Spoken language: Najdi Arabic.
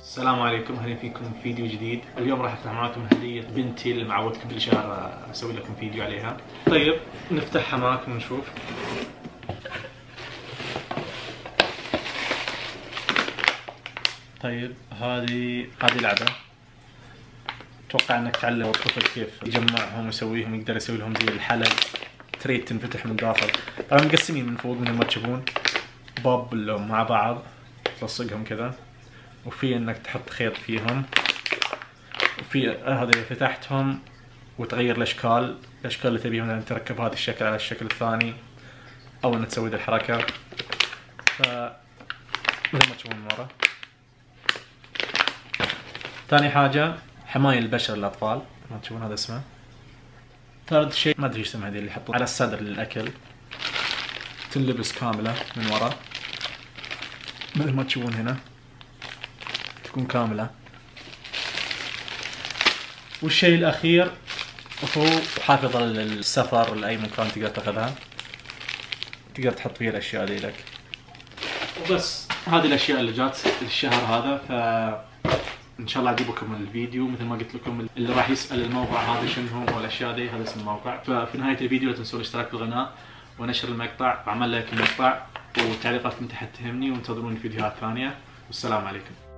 السلام عليكم، اهلا فيكم في فيديو جديد. اليوم راح افتح معاكم هدية بنتي اللي معودتكم كل شهر اسوي لكم فيديو عليها. طيب نفتحها معاكم ونشوف. طيب هذه لعبة. اتوقع انك تعلم الطفل كيف يجمعهم ويسويهم، يقدر يسوي لهم زي الحلق، تريد تنفتح من داخل. طبعا مقسمين من فوق مثل ما تشوفون، باب مع بعض تلصقهم كذا، وفي انك تحط خيط فيهم، وفي هذا اذا فتحتهم وتغير الاشكال اللي تبيها، مثلا تركب هذا الشكل على الشكل الثاني او انك تسوي ذي الحركة. مثل ما تشوفون من ورا. ثاني حاجة حماية البشر للاطفال، ما تشوفون هذا اسمه. ثالث شيء ما ادري ايش اسمها هذه اللي يحطون على الصدر للاكل، تنلبس كاملة من ورا مثل ما تشوفون هنا، تكون كاملة. والشيء الأخير هو حافظة للسفر لأي مكان تقدر تاخذها، تقدر تحط فيها الأشياء ذي لك. وبس هذه الأشياء اللي جات الشهر هذا. فإن شاء الله أجيبكم الفيديو مثل ما قلت لكم. اللي راح يسأل الموقع هذا شنو هو والأشياء ذي، هذا اسم الموقع. ففي نهاية الفيديو لا تنسوا الاشتراك بالقناة ونشر المقطع وعمل لايك المقطع، وتعليقاتكم تحت تهمني، وانتظروني فيديوهات ثانية. والسلام عليكم.